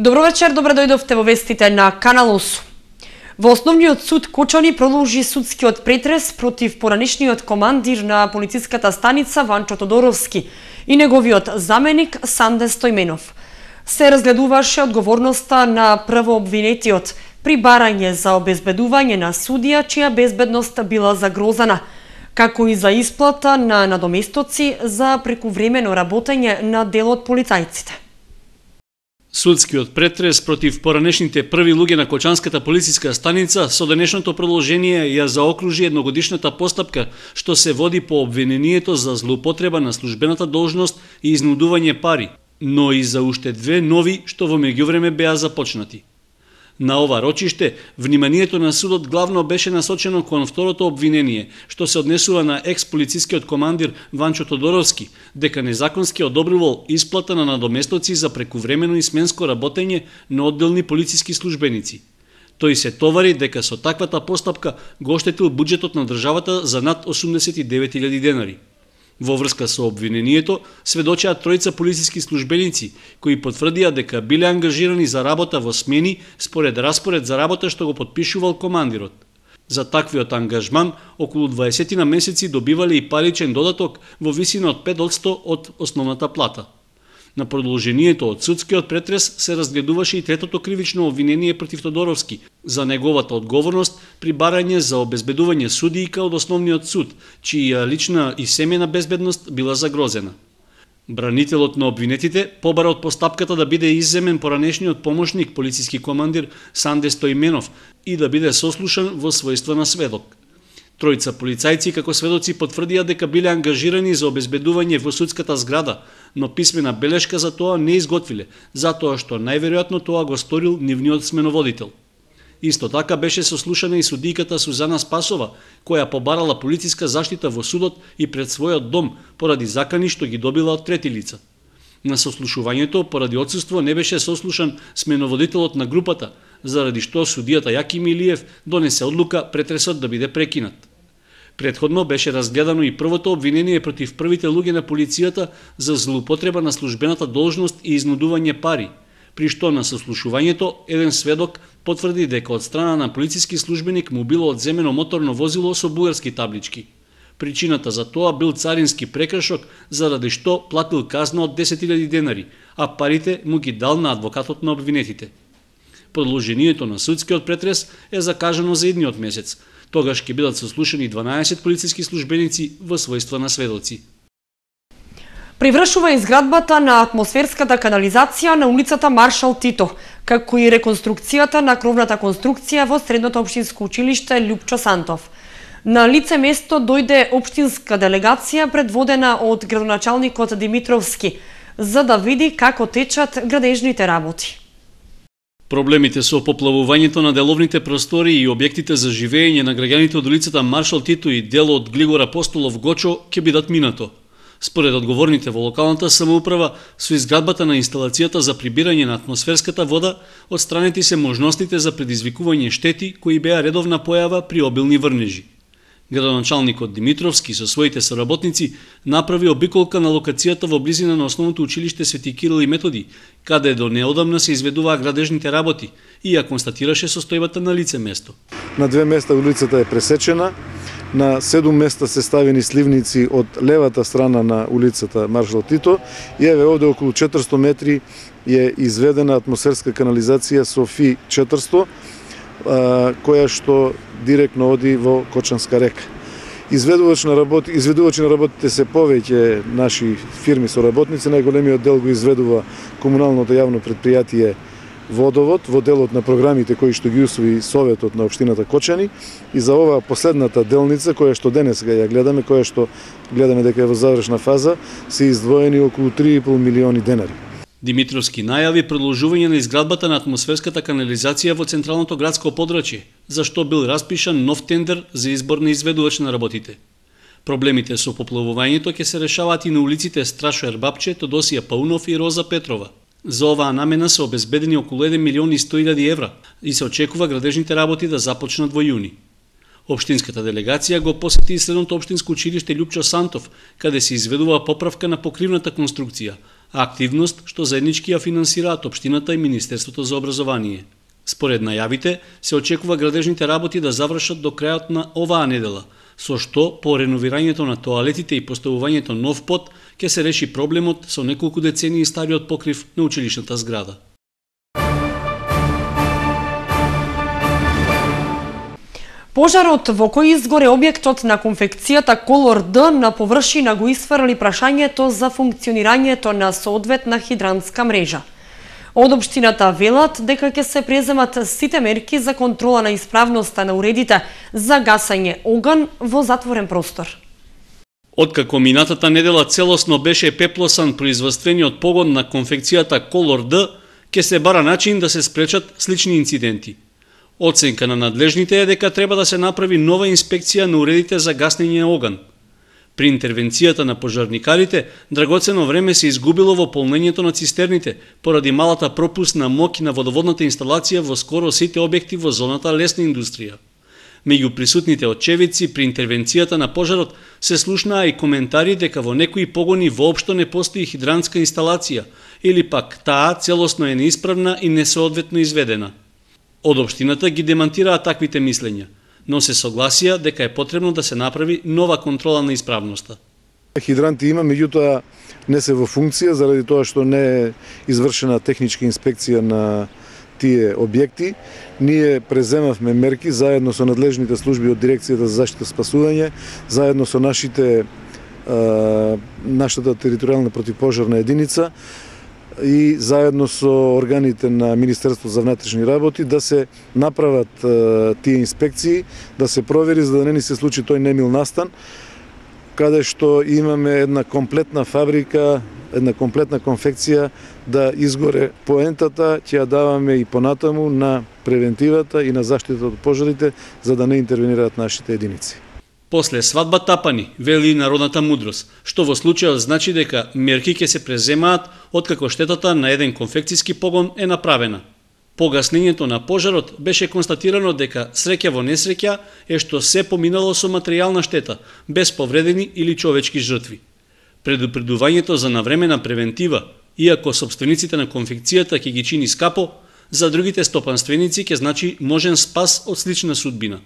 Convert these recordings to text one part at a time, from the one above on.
Добро вечер, добре дојдовте во вестите на Канал 8. Во Основниот суд Кочани продолжи судскиот претрес против поранешниот командир на полициската станица Ванчо Тодоровски и неговиот заменик Санде Стојменов. Се разгледуваше одговорноста на првообвинетиот при барање за обезбедување на судија чија безбедност била загрозена, како и за исплата на надоместоци за прекувремено работење на дел од полицајците. Судскиот претрес против поранешните први луѓе на Кочанската полициска станица со денешното продолжение ја заокружи едногодишната постапка што се води по обвинението за злоупотреба на службената должност и изнудување пари, но и за уште две нови што во меѓувреме беа започнати. На ова рочиште, вниманието на судот главно беше насочено кон второто обвинение, што се однесува на екс-полицискиот командир Ванчо Тодоровски, дека незаконски одобрувал исплата на надоместоци за прекувремено и сменско работење на одделни полициски службеници. Тој се товари дека со таквата постапка го оштетил буџетот на државата за над 89.000 денари. Во врска со обвинението, сведочеа тројца полициски службеници, кои потврдија дека биле ангажирани за работа во смени според распоред за работа што го потпишувал командирот. За таквиот ангажман, околу 20 на месеци добивале и паричен додаток во висина од 5% од основната плата. На продолжението од судскиот претрес се разгледуваше и третото кривично обвинение против Тодоровски за неговата одговорност при барање за обезбедување судијка од основниот суд, чија лична и семејна безбедност била загрозена. Бранителот на обвинетите побара од постапката да биде изземен поранешниот помошник полициски командир Санде Стојменов и да биде сослушан во својство на сведок. Тројца полицајци како сведоци потврдија дека биле ангажирани за обезбедување во судската зграда, но писмена белешка за тоа не изготвиле, затоа што најверојатно тоа го сторил нивниот сменоводител. Исто така беше сослушана и судијката Сузана Спасова, која побарала полициска заштита во судот и пред својот дом поради закани што ги добила од трети лица. На сослушувањето поради отсуство не беше сослушан сменоводителот на групата, заради што судијата Јаки Милиев донесе одлука претресот да биде прекинат. Претходно беше разгледано и првото обвинение против првите луѓе на полицијата за злоупотреба на службената должност и изнудување пари, при што на сослушувањето еден сведок потврди дека од страна на полициски службеник му било одземено моторно возило со бугарски таблички. Причината за тоа бил царински прекршок, заради што платил казна од 10.000 денари, а парите му ги дал на адвокатот на обвинетите. Продолжението на судскиот претрес е закажано за идниот месец. Тогаш ќе бидат сослушани 12 полициски службеници во својство на сведоци. Привршува изградбата на атмосферската канализација на улицата Маршал Тито, како и реконструкцијата на кровната конструкција во Средното општинско училиште Љупчо Сантов. На лице место дојде општинска делегација предводена од градоначалникот Димитровски, за да види како течат градежните работи. Проблемите со поплавувањето на деловните простори и објектите за живење на граѓаните од улицата Маршал Тито и дел од Глигор Апостолов Гочо ќе бидат минато. Според одговорните во локалната самоуправа, со изградбата на инсталацијата за прибирање на атмосферската вода, отстранети се можностите за предизвикување штети кои беа редовна појава при обилни врнежи. Градоначалникот Димитровски со своите соработници направи обиколка на локацијата во близина на основното училиште Свети Кирил и Методи, каде до неодамна се изведуваа градежните работи и ја констатираше состојбата на лице место. На 2 места улицата е пресечена, на 7 места се ставени сливници од левата страна на улицата Маршал Тито и еве овде околу 400 метри е изведена атмосферска канализација Софи 400, која што директно оди во Кочанска река. Изведувачи на работите се повеќе наши фирми соработници, најголемиот дел го изведува комуналното јавно предпријатие Водовод во делот на програмите кои што ги усвои Советот на општината Кочани, и за оваа последната делница која што денеска ја гледаме, која што гледаме дека е во завршна фаза, се издвоени околу 3,5 милиони денари. Димитровски најави продолжување на изградбата на атмосферската канализација во централното градско подрачје, за што бил распишан нов тендер за избор на изведувач на работите. Проблемите со поплавувањето ќе се решаваат и на улиците Страшо Ербапче, Тодосија Паунов и Роза Петрова. За оваа намена се обезбедени околу 1.100.000 евра и се очекува градежните работи да започнат во јуни. Општинската делегација го посети Средното општинско училиште Љупчо Сантов, каде се изведува поправка на покривната конструкција, активност што заеднички ја финансираат општината и Министерството за образование. Според најавите, се очекува градежните работи да завршат до крајот на оваа недела, со што по реновирањето на тоалетите и поставувањето нов под ќе се реши проблемот со неколку децении стариот покрив на училишната зграда. Пожарот во кој изгоре објектот на конфекцијата Колор Д на површина го исфрли прашањето за функционирањето на соодветна хидрантска мрежа. Од општината велат дека ќе се преземат сите мерки за контрола на исправноста на уредите за гасање оган во затворен простор. Откако минатата недела целосно беше пеплосан производствениот погон на конфекцијата Колор Д, ќе се бара начин да се спречат слични инциденти. Оценка на надлежните е дека треба да се направи нова инспекција на уредите за гаснење оган. При интервенцијата на пожарникарите, драгоцено време се изгубило во полнењето на цистерните, поради малата пропусна моќ на водоводната инсталација во скоро сите објекти во зоната лесна индустрија. Меѓу присутните очевидци при интервенцијата на пожарот се слушнаа и коментари дека во некои погони воопшто не постои хидрантска инсталација, или пак таа целосно е неисправна и несоодветно изведена. Од општината ги демантираа таквите мислења, но се согласија дека е потребно да се направи нова контрола на исправноста. Хидранти има, меѓутоа не се во функција заради тоа што не е извршена техничка инспекција на тие објекти. Ние преземавме мерки заедно со надлежните служби од Дирекцијата за заштита и спасување, заедно со нашата територијална противпожарна единица и заедно со органите на Министерство за внатрешни работи да се направат тие инспекции, да се провери за да не ни се случи тој немил настан, каде што имаме една комплетна фабрика, една комплетна конфекција да изгоре. Поентата ќе ја даваме и понатаму на превентивата и на заштита од пожарите за да не интервенираат нашите единици. После свадба тапани, вели народната мудрост, што во случајот значи дека мерки ќе се преземаат откако штетата на еден конфекцијски погон е направена. По гаснењето на пожарот беше констатирано дека среќа во несреќа е што се поминало со материјална штета, без повредени или човечки жртви. Предупредувањето за навремена превентива, иако собствениците на конфекцијата ќе ги чини скапо, за другите стопанственици ќе значи можен спас од слична судбина.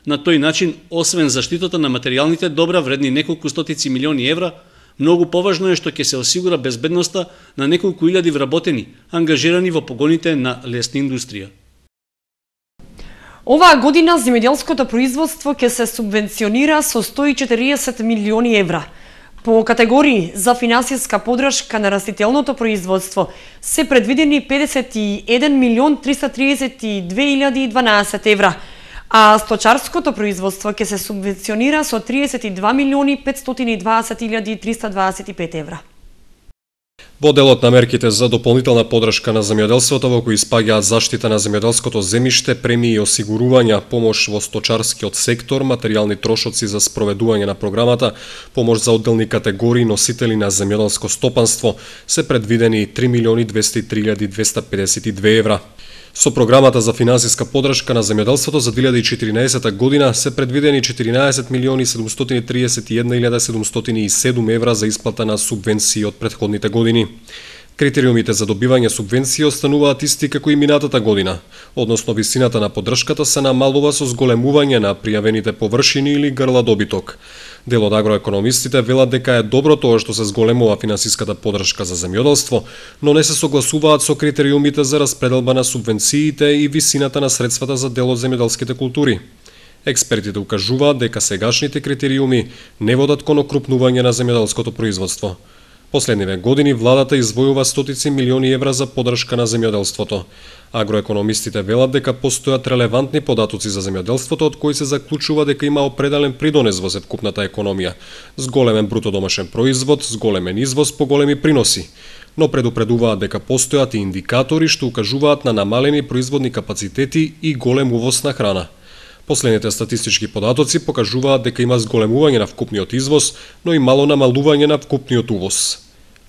На тој начин, освен заштитата на материјалните добра вредни неколку стотици милиони евра, многу поважно е што ќе се осигура безбедноста на неколку илјади вработени, ангажирани во погоните на лесна индустрија. Оваа година земјоделското производство ќе се субвенционира со 140 милиони евра. По категории за финансиска подршка на растителното производство се предвидени 51 милион 332.012 евра, а сточарското производство ќе се субвенционира со 32 милиони 520.325 евра. Во делот на мерките за дополнителна подршка на земјоделството во кои спаѓаат заштита на земјоделското земјиште, премии и осигурувања, помош во сточарскиот сектор, материјални трошоци за спроведување на програмата, помош за одделни категории носители на земјоделско стопанство, се предвидени 3 милиони 203.252 евра. Со програмата за финансиска подршка на земјоделството за 2014 година се предвидени 14 милиони 731.707 евра за исплата на субвенции од претходните години. Критериумите за добивање субвенции остануваат исти како и минатата година, односно висината на поддршката се намалува со зголемување на пријавените површини или грла добиток. Дел од агроекономистите велат дека е добро тоа што се зголемува финансиската поддршка за земјоделство, но не се согласуваат со критериумите за распределба на субвенциите и висината на средствата за дел од земјоделските култури. Експертите укажуваат дека сегашните критериуми не водат кон окрупнување на земјоделското производство. Последниве години владата извојува стотици милиони евра за поддршка на земјоделството. Агроекономистите велат дека постојат релевантни податоци за земјоделството од кои се заклучува дека има определен придонес во севкупната економија, с големен бруто домашен производ, с големен извоз по големи приноси, но предупредуваат дека постојат и индикатори што укажуваат на намалени производни капацитети и голем увоз на храна. Последните статистички податоци покажуваат дека има зголемување на вкупниот извоз, но и мало намалување на вкупниот увоз.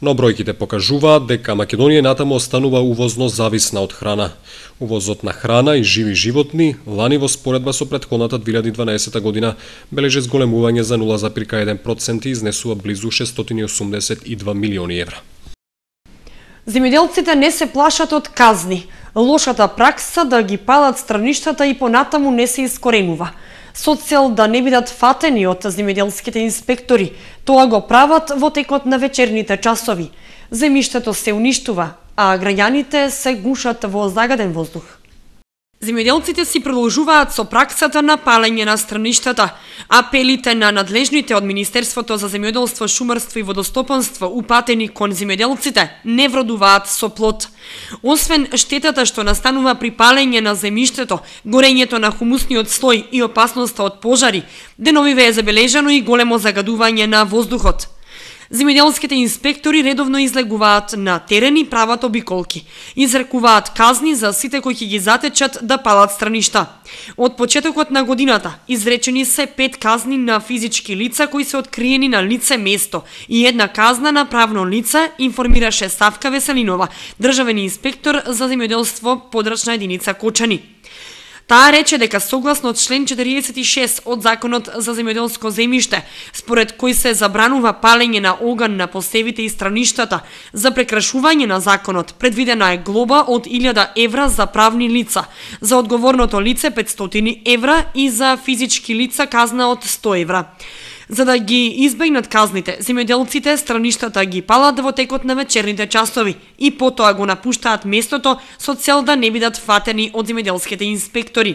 Но бројките покажуваат дека Македонија натаму останува увозно зависна од храна. Увозот на храна и живи животни лани во споредба со претходната 2012 година бележи зголемување за 0,1% и изнесува близу 682 милиони евра. Земјоделците не се плашат од казни. Лошата пракса да ги палат страништата и понатаму не се искоренува. Со цел да не бидат фатени од земјоделските инспектори, тоа го прават во текот на вечерните часови. Земјиштето се уништува, а граѓаните се гушат во загаден воздух. Земјоделците си продолжуваат со праксата на палење на страништата. Апелите на надлежните од Министерството за земјоделство, шумарство и водостопанство упатени кон земјоделците не вродуваат со плод. Освен штетата што настанува при палење на земјиштето, горењето на хумусниот слој и опасноста од пожари, деновиве е забележано и големо загадување на воздухот. Земјоделските инспектори редовно излегуваат на терен и прават обиколки. Изрекуваат казни за сите кои ќе ги затечат да палат страништа. Од почетокот на годината изречени се 5 казни на физички лица кои се откриени на лице место и 1 казна на правно лице, информираше Савка Веселинова, државен инспектор за земјоделство, подрачна единица Кочани. Таа рече дека согласно член 46 од Законот за земјоделско земјиште, според кој се забранува палење на оган на посевите и страништата, за прекрашување на законот предвидена е глоба од 1000 евра за правни лица, за одговорното лице 500 евра и за физички лица казна од 100 евра. За да ги избегнат казните, земјоделците страништата ги палат во текот на вечерните часови и потоа го напуштаат местото со цел да не бидат фатени од земјоделските инспектори.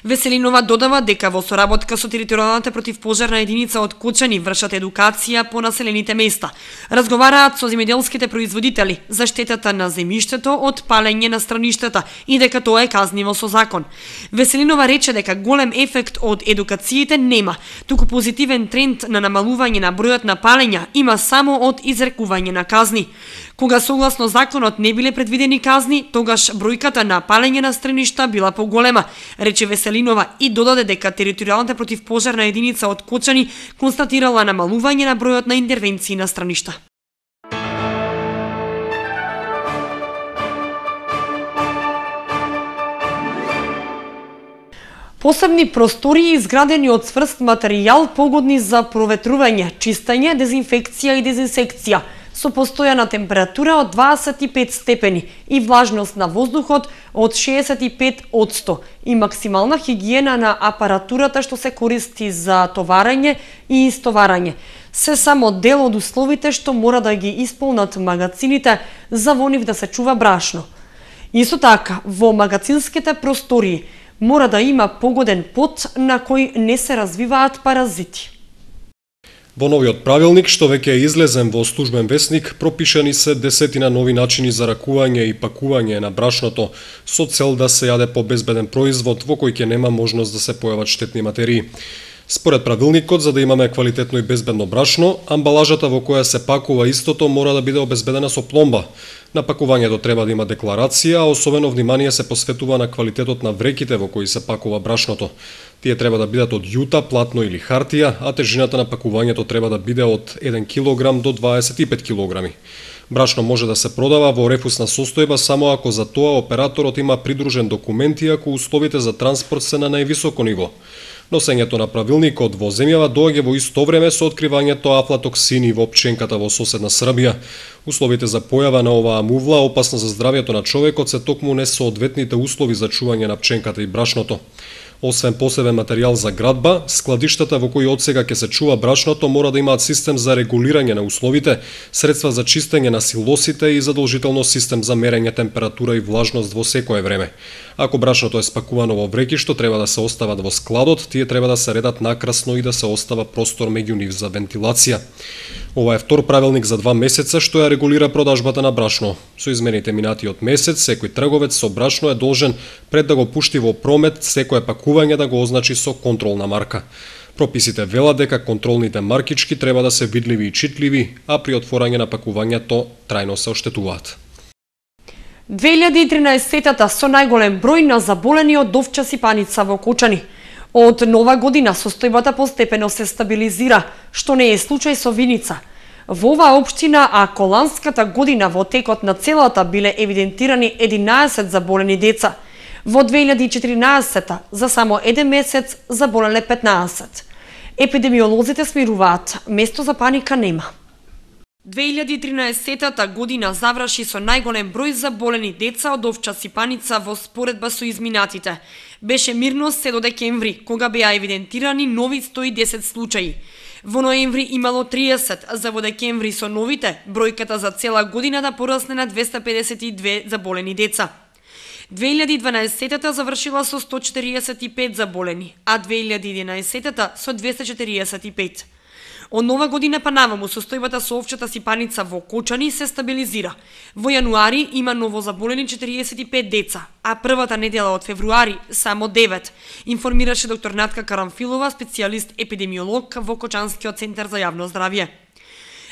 Веселинова додава дека во соработка со територијалната противпожарна единица од Кочани вршат едукација по населените места. Разговараат со земјоделските производители за штетата на земјиштето од палење на страништата и дека тоа е казниво со закон. Веселинова рече дека голем ефект од едукациите нема, туку позитивен тренд на намалување на бројот на палења има само од изрекување на казни. Кога согласно законот не биле предвидени казни, тогаш бројката на палење на страништа била поголема, рече Веселинова и додаде дека територијалната противпожарна единица од Кочани констатирала намалување на бројот на интервенции на страништа. Посебни простории изградени од цврст материјал погодни за проветрување, чистење, дезинфекција и дезинсекција, со постојана температура од 25 степени и влажност на воздухот од 65% и максимална хигиена на апаратурата што се користи за товарење и истоварање. Се само дел од условите што мора да ги исполнат магацините за во нив да се чува брашно. Исто така, во магацинските простории мора да има погоден пот на кој не се развиваат паразити. Во новиот правилник, што веќе е излезен во службен весник, пропишани се десетина нови начини за ракување и пакување на брашното, со цел да се јаде побезбеден производ во кој ќе нема можност да се појават штетни материи. Според правилникот, за да имаме квалитетно и безбедно брашно, амбалажата во која се пакува истото мора да биде обезбедена со пломба. На пакувањето треба да има декларација, а особено внимание се посветува на квалитетот на вреките во кои се пакува брашното. Тие треба да бидат од јута, платно или хартија, а тежината на пакувањето треба да биде од 1 кг до 25 кг. Брашно може да се продава во рефусна состојба само ако за тоа операторот има придружен документ и ако условите за транспорт се на највисоко ниво. Носењето на правилникот во земјава доаѓа во исто време со откривањето афлатоксини во пченката во соседна Србија. Условите за појава на оваа мувла, опасна за здравјето на човекот, се токму несоодветните услови за чување на пченката и брашното. Освен посебен материјал за градба, складиштата во кои одсега ќе се чува брашното мора да имаат систем за регулирање на условите, средства за чистење на силосите и задолжително систем за мерење температура и влажност во секое време. Ако брашното е спакувано во вреки што треба да се остават во складот, тие треба да се редат накрасно и да се остава простор меѓу нив за вентилација. Ова е втор правилник за 2 месеца што ја регулира продажбата на брашно. Со измените минатиот месец, секој трговец со брашно е должен пред да го пушти во промет секое пакување да го означи со контролна марка. Прописите велат дека контролните маркички треба да се видливи и читливи, а при отворање на пакувањето трајно се оштетуваат. 2013-та со најголем број на заболени од овча сипаница во Кочани. Од нова година состојбата постепено се стабилизира, што не е случај со виница. Во оваа општина, а коланската година во текот на целата биле евидентирани 11 заболени деца. Во 2014 за само 1 месец заболеле 15. Епидемиолозите смируваат, место за паника нема. 2013 година заврши со најголем број заболени деца од овча сипаница во споредба со изминатите. Беше мирно се до декември, кога беа евидентирани нови 110 случаи. Во ноември имало 30, за во декември со новите, бројката за цела година да порасне на 252 заболени деца. 2012 завршила со 145 заболени, а 2011 со 245. Од нова година па наваму состојбата со овчата сипаница во Кочани се стабилизира. Во јануари има ново заболени 45 деца, а првата недела од февруари само 9, информираше доктор Натка Карамфилова, специјалист епидемиолог во Кочанскиот центар за јавно здравје.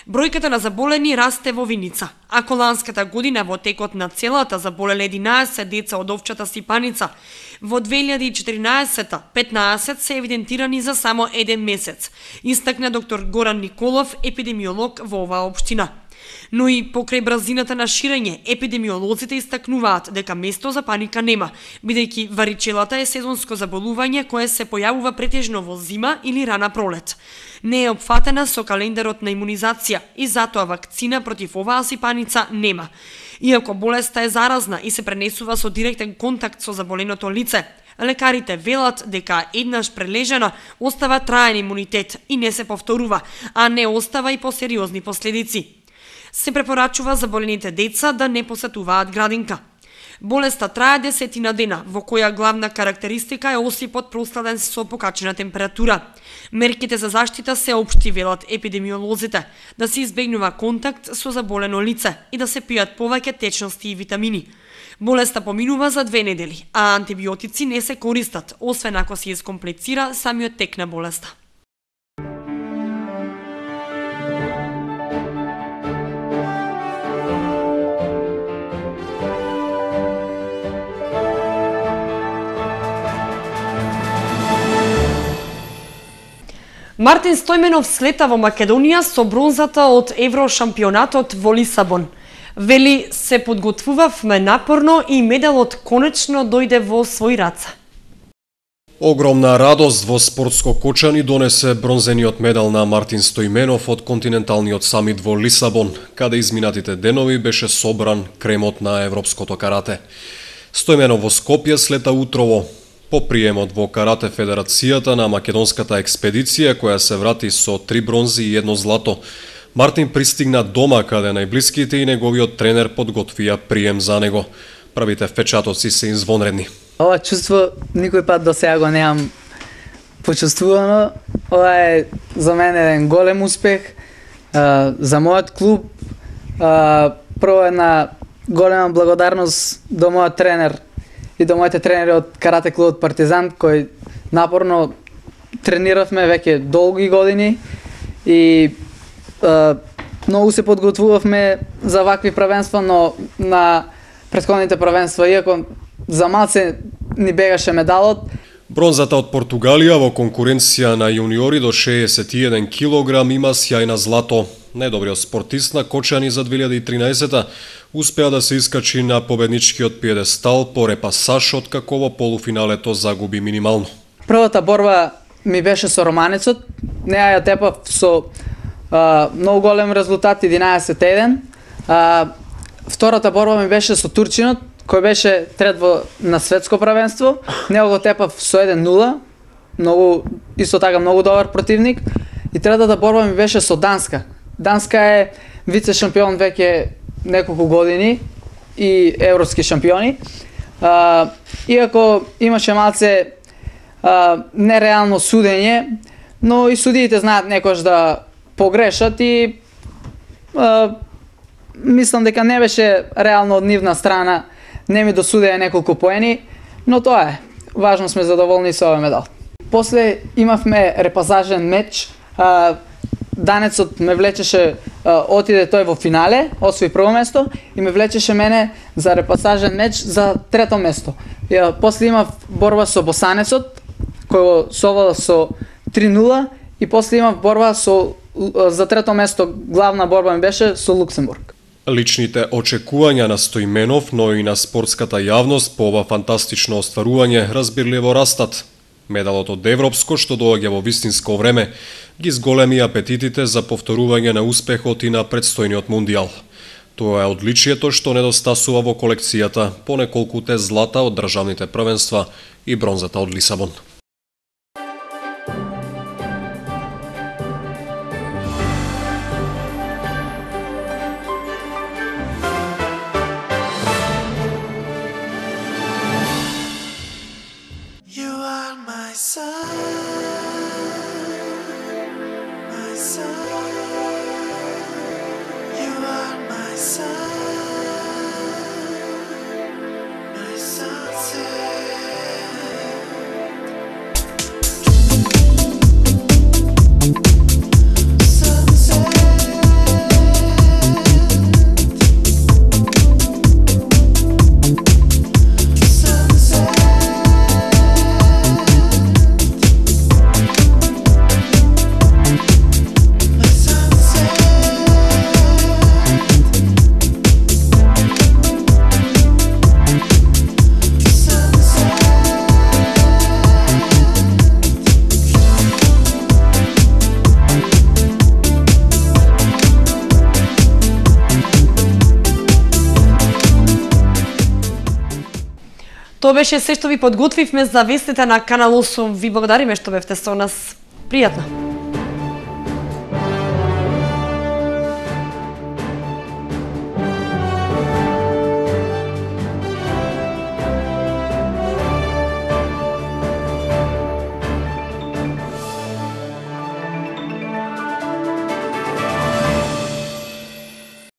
Бројката на заболени расте во Виница. Ако ланската година во текот на целата заболеле 11 деца од овчата сипаница, во 2014 15 се евидентирани за само еден месец, истакна доктор Горан Николов, епидемиолог во оваа општина. Но и покрај брзината на ширење, епидемиолозите истакнуваат дека место за паника нема, бидејќи варичелата е сезонско заболување кое се појавува претежно во зима или рана пролет. Не е опфатена со календарот на имунизација и затоа вакцина против оваа сипаница нема. Иако болеста е заразна и се пренесува со директен контакт со заболеното лице, лекарите велат дека еднаш прележена остава траен имунитет и не се повторува, а не остава и посериозни последици. Се препорачува заболените деца да не посетуваат градинка. Болеста трае 10 дена, во која главна карактеристика е осипот просладен со покачена температура. Мерките за заштита се општи, велат епидемиолозите, да се избегнува контакт со заболено лице и да се пијат повеќе течности и витамини. Болеста поминува за 2 недели, а антибиотици не се користат, освен ако се искомплицира самиот тек на болеста. Мартин Стојменов слета во Македонија со бронзата од Еврошампионатот во Лисабон. Вели, се подготвувавме напорно и медалот конечно дојде во свој раце. Огромна радост во спортско Кочани донесе бронзениот медал на Мартин Стојменов од континенталниот самит во Лисабон, каде изминатите денови беше собран кремот на европското карате. Стојменов во Скопје слета утрово. По приемот во Карате Федерацијата на македонската експедиција, која се врати со 3 бронзи и 1 злато, Мартин пристигна дома каде најблиските и неговиот тренер подготвија прием за него. Првите впечатоци се извонредни. Ова чувство никој пат до сега го немам почувствувано. Ова е за мене еден голем успех за мојот клуб. Прво една голема благодарност до мојот тренер и до моите тренери од карате клубот Партизан, кој напорно трениравме веќе долги години и многу се подготвувавме за вакви правенства, но на претходните правенства, иако за малце ни бегаше медалот. Бронзата од Португалија во конкуренција на јуниори до 61 кг има сјајна злато. Најдобриот спортист на Кочани за 2013 успеа да се искачи на победничкиот пиедестал по репасаж, откако во полуфиналето загуби минимално. Првата борба ми беше со романецот. Неа ја тепав со многу голем резултат 11-1. Втората борба ми беше со турчинот, кој беше трет на светско правенство. Него го тепав со 1-0. Исто така многу добар противник. И третата борба ми беше со Данска. Данска е вице шампион веќе неколку години и европски шампиони. Иако имаше малце нереално судење, но и судиите знаат некош да погрешат и мислам дека не беше реално од нивна страна, не ми досудеа неколку поени, но тоа е. Важно сме задоволни со овој медал. После имавме репасажен меч. Данецот ме влечеше, отиде тој во финале, освои прво место и ме влечеше мене за репасажен меч за трето место. После имав борба со Босанецот, кој совлада со 3-0 и после имав борба за трето место, главна борба ми беше со Луксембург. Личните очекувања на Стојменов, но и на спортската јавност по ова фантастично остварување разбирливо растат. Медалот од Европско, што доаѓа во вистинско време, ги зголеми апетитите за повторување на успехот и на претстојниот мундијал. Тоа е одличието што недостасува во колекцијата по неколкуте злата од државните првенства и бронзата од Лисабон. Тоа беше се што ви подготвивме за вестите на Канал 8. Ви благодариме што бевте со нас. Пријатно!